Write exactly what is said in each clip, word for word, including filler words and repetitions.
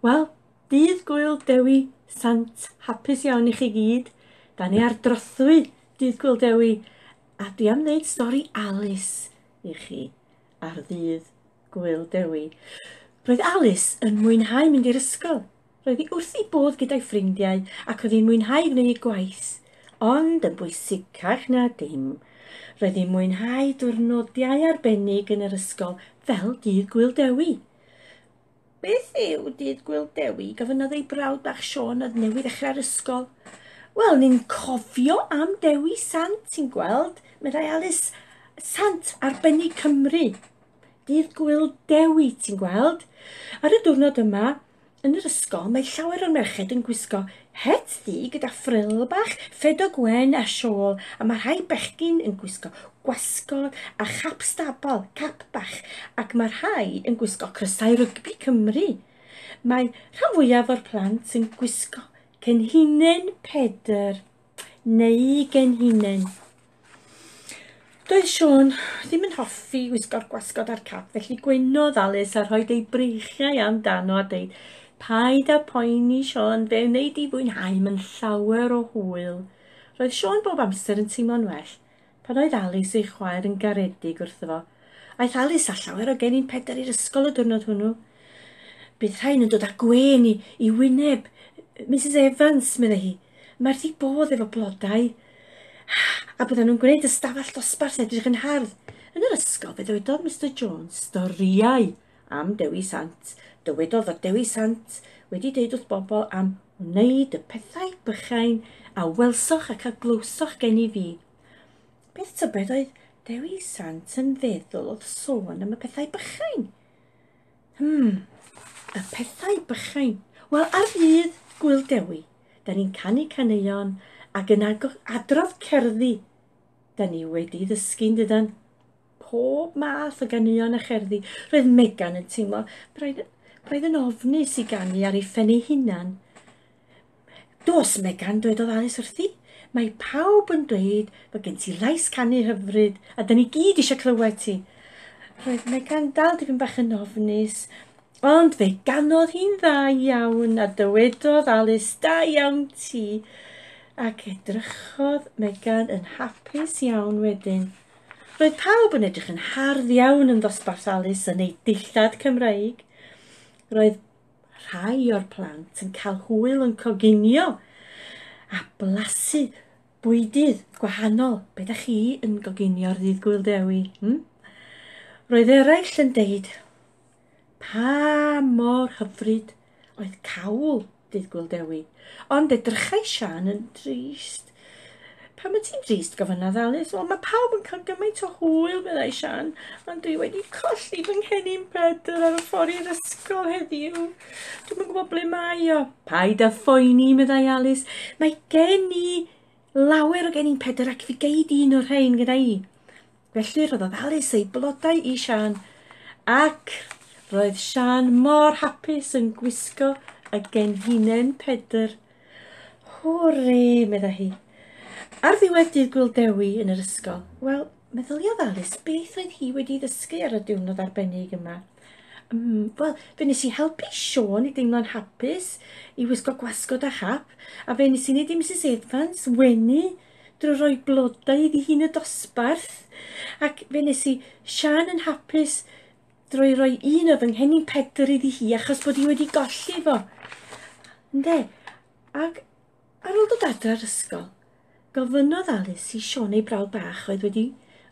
Wel, dydd Gŵyl Dewi Sant hapus iawn i chi gyd. Da ni ar drothwy dydd Gŵyl Dewi a dwi am ddeud stori Alice i chi ar ddydd Gŵyl Dewi. Roedd Alice yn mwynhau mynd i'r ysgol. Roedd hi wrth ei bodd gyda'i ffrindiau ac oedd hi'n mwynhau gwneud ei gwaith. Ond yn bwysicach na dim, roedd hi'n mwynhau diwrnodiau arbennig yn yr ysgol fel dydd Gŵyl Dewi. Beth yw dydd Gŵyl Dewi? Gofynnodd ei brawd bach Siôn oedd newydd ddechrau'r ysgol. Wel, ni'n cofio am Dewi Sant, ti'n gweld, meddai Alice. Sant arbennig Cymru. Dydd Gŵyl Dewi, ti'n gweld. Ar y diwrnod yma, yn yr ysgol, mae llawer o'r merched yn gwisgo het ddu gyda ffril bach, ffedog wen a siôl, a mae rhai bechgyn yn gwisgo gwasgod a chap stabal, cap bach, ac mae rhai yn gwisgo crysau rygbi Cymru. Mae rhan fwyaf o'r plant yn gwisgo cenhinen Pedr neu genhinen. Doedd Siôn ddim yn hoffi wisgo'r gwasgod a'r cap, felly gwenodd Alice a rhoi ei breichiau amdano a deud, "Paid â poeni, Siôn, fe wnei di fwynhau, mae'n llawer o hwyl." Roedd Siôn bob amser yn teimlo'n well pan oedd Alice ei chwaer yn garedig wrtho fo. Aeth Alice â llawer o gennin Pedr i'r ysgol y diwrnod hwnnw. Bydd rhain yn dod â gwên i, i wyneb Missus Evans, meddai hi. Mae wrth ei bodd efo blodau. A byddan nhw'n gwneud ystafell dosbarth edrych yn hardd. Yn yr ysgol fe ddywedodd Mister Jones storïau am Dewi Sant. Dywedodd fod Dewi Sant wedi deud wrth bobl am wneud y pethau bychain a welsoch ac a glywsoch gen i fi. Beth tybed oedd Dewi Sant yn feddwl oedd sôn am y pethau bychain? Hmm, y pethau bychain. Wel, ar ddydd Gŵyl Dewi, da ni'n canu caneuon ac yn adrodd cerddi. Da ni wedi ddysgu'n dydan. Pob math o ganeuon a cherddi. Roedd Megan yn teimlo braidd, braidd yn ofnus i ganu ar ei phen ei hunan. "Dos, Megan," dwedodd Alice wrthi. "Mae pawb yn dweud bod gen ti lais canu hyfryd a da ni gyd eisiau clywed ti." Roedd Megan dal dipyn bach yn ofnus, ond fe ganodd hi'n dda iawn a dywedodd Alice, "Da iawn ti." Ac edrychodd Megan yn hapus iawn wedyn. Roedd pawb yn edrych yn hardd iawn yn ddosbarth Alice yn ei dillad Cymraeg. Roedd rhai o'r plant yn cael hwyl yn coginio a blasu bwydydd gwahanol. Be da chi yn goginio ar ddydd Gŵyl Dewi? Hmm? Roedd eraill yn deud pa mor hyfryd oedd cawl dydd Gŵyl Dewi. Ond edrychai Siân yn drist. "Pam wyt ti'n drist?" gofynnodd Alice. "Wel, mae pawb yn cael gymaint o hwyl," meddai Siân, "ond dwi wedi colli fy nghennin Pedr ar y ffordd i'r ysgol heddiw. Dwi'm yn gwybod ble mae o." "Paid â phoeni," meddai Alice. "Mae gen i lawer o gennin Pedr ac fi gei di un o'r rhain gyda i." Felly rhoddodd Alice ei blodau i Siân ac roedd Siân mor hapus yn gwisgo y genhinen Pedr. "Hwre," meddai hi. Ar ddiwedd dydd Gŵyl Dewi yn yr ysgol, wel, meddyliodd Alice beth oedd hi wedi ddysgu ar y diwrnod arbennig yma. Mm, Wel, fe nes i helpu Siôn i deimlo'n hapus, i wisgo gwasgod a chap, a fe nes i wneud i Missus Evans wenu drwy roi blodau iddi hi'n y dosbarth, ac fe nes i Siân yn hapus drwy roi un o fy nghennin Pedr iddi hi achos bod hi wedi golli fo. Ynde? Ac ar ôl dod adre'r ysgol, gofynnodd Alice i Siôn ei brawd bach oedd wedi,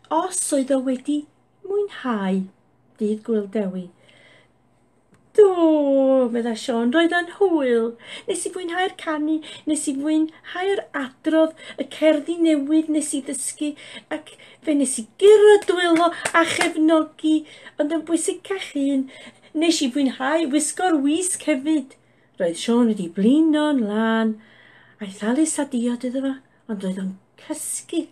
os oedd o wedi mwynhau dydd Gŵyl Dewi. "Do," meddai Siôn, "roedd o'n hwyl. Nes i fwynhau'r canu, nes i fwynhau'r adrodd, y cerddi newydd nes i ddysgu, ac fe nes i guro dwylo a chefnogi, ond yn bwysicach un, nes i fwynhau wisgo'r wisg hefyd." Roedd Siôn wedi blino'n lân. Aeth Alice â diod iddo fo, ond roedd o'n cysgu.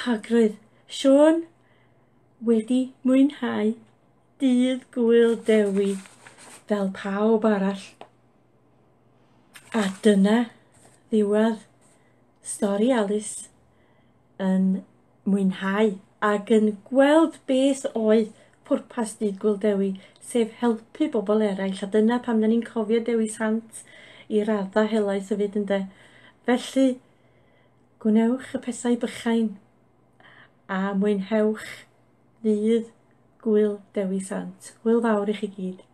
Ac roedd Siôn wedi mwynhau dydd Gŵyl Dewi fel pawb arall. A dyna ddiwedd stori Alice yn mwynhau ac yn gweld beth oedd pwrpas Dydd Gŵyl Dewi, sef helpu bobl eraill, a dyna pam da ni'n cofio Dewi Sant i radda helaeth hefyd, ynde. Felly, gwnewch y pethau bychain a mwynhewch Ddydd Gŵyl Dewi Sant. Hwyl fawr i chi gyd.